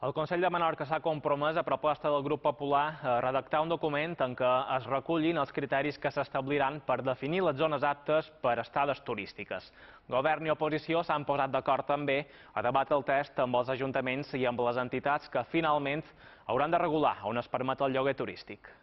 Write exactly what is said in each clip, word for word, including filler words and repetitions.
El Consell de Menorca s'ha compromès, a proposta del Grup Popular, a redactar un document en què es recullin els criteris que s'establiran per definir les zones aptes per estades turístiques. Govern i oposició s'han posat d'acord també a debatre el text amb els ajuntaments i amb les entitats que finalment hauran de regular on es permet el lloguer turístic.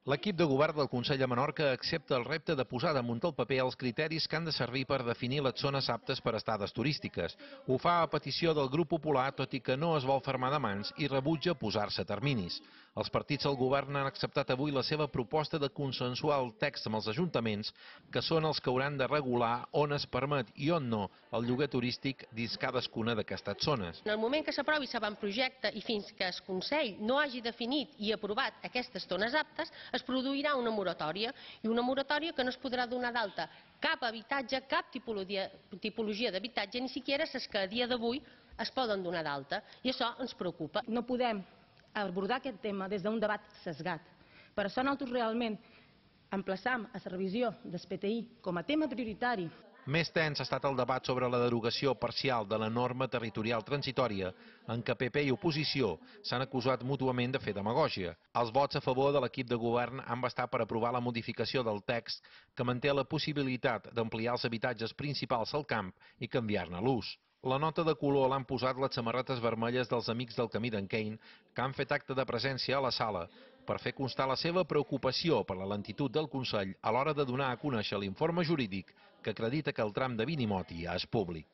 L'equip de govern del Consell de Menorca accepta el repte de posar damunt el paper els criteris que han de servir per definir les zones aptes per estades turístiques. Ho fa a petició del Grup Popular, tot i que no es vol fermar de mans i rebutja posar-se terminis. Els partits del govern han acceptat avui la seva proposta de consensuar el text amb els ajuntaments, que són els que hauran de regular on es permet i on no el lloguer turístic dins cadascuna d'aquestes zones. En el moment que s'aprovi l'avantprojecte i fins que el Consell no hagi definit i aprovat aquestes zones aptes, es produirà una moratòria, i una moratòria que no es podrà donar d'alta cap habitatge, cap tipologia d'habitatge, ni siquiera les que a dia d'avui es poden donar d'alta, i això ens preocupa. No podem abordar aquest tema des d'un debat sesgat. Per això nosaltres realment emplaçam a la revisió del P T I com a tema prioritari. Més tens ha estat el debat sobre la derogació parcial de la norma territorial transitòria, en què P P i oposició s'han acusat mútuament de fer demagògia. Els vots a favor de l'equip de govern han bastat per aprovar la modificació del text que manté la possibilitat d'ampliar els habitatges principals al camp i canviar-ne l'ús. La nota de color l'han posat les samarretes vermelles dels Amics del Camí d'en Cain, que han fet acte de presència a la sala per fer constar la seva preocupació per la lentitud del Consell a l'hora de donar a conèixer l'informe jurídic que acredita que el tram de Vinimoti ja és públic.